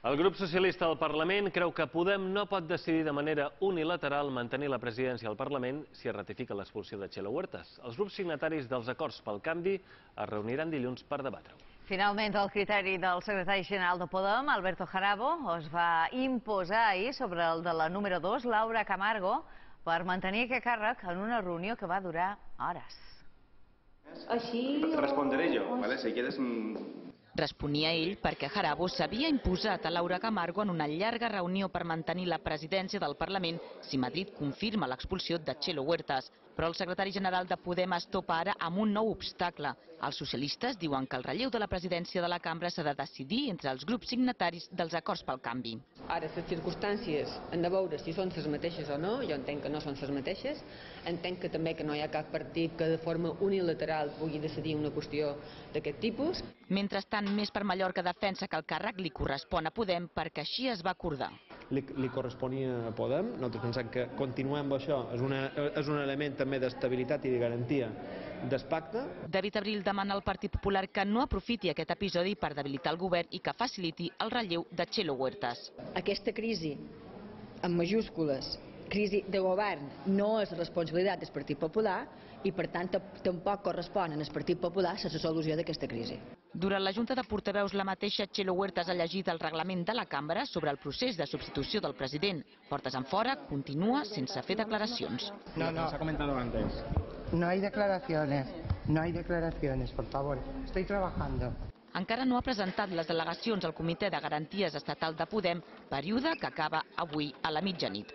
El grup socialista al Parlament creu que Podem no pot decidir de manera unilateral mantenir la presidència al Parlament si es ratifica l'expulsió de Txelo Huertas. Els grups signataris dels acords pel canvi es reuniran dilluns per debatre-ho. Finalment, el criteri del secretari general de Podem, Alberto Jarabo, es va imposar ahir sobre el de la número 2, Laura Camargo, per mantenir aquest càrrec en una reunió que va durar hores. Responderé yo, ¿vale? Si quieres... Responia ell perquè Jarabo s'havia imposat a Laura Camargo en una llarga reunió per mantenir la presidència del Parlament si Madrid confirma l'expulsió de Txelo Huertas. Però el secretari general de Podem es topa ara amb un nou obstacle. Els socialistes diuen que el relleu de la presidència de la cambra s'ha de decidir entre els grups signataris dels acords pel canvi. Ara, les circumstàncies han de veure si són les mateixes o no. Jo entenc que no són les mateixes. Entenc que també que no hi ha cap partit que de forma unilateral pugui decidir una qüestió d'aquest tipus. Mentrestant, Més per Mallorca defensa que el càrrec li correspon a Podem perquè així es va acordar. Li corresponia a Podem. Nosaltres pensem que continuem amb això. És un element també d'estabilitat i de garantia del pacte. David Abril demana al Partit Popular que no aprofiti aquest episodi per debilitar el govern i que faciliti el relleu de Txelo Huertas. Aquesta crisi, en majúscules, crisi de govern, no és responsabilitat del Partit Popular i, per tant, tampoc correspon al Partit Popular la solució d'aquesta crisi. Durant la Junta de Portaveus, la mateixa Txelo Huertas ha llegit el reglament de la cambra sobre el procés de substitució del president. Portes enfora, continua sense fer declaracions. No, se ha comentado antes. No hay declaraciones, por favor. Estoy trabajando. Encara no ha presentat les delegacions al Comitè de Garanties Estatal de Podem, període que acaba avui a la mitjanit.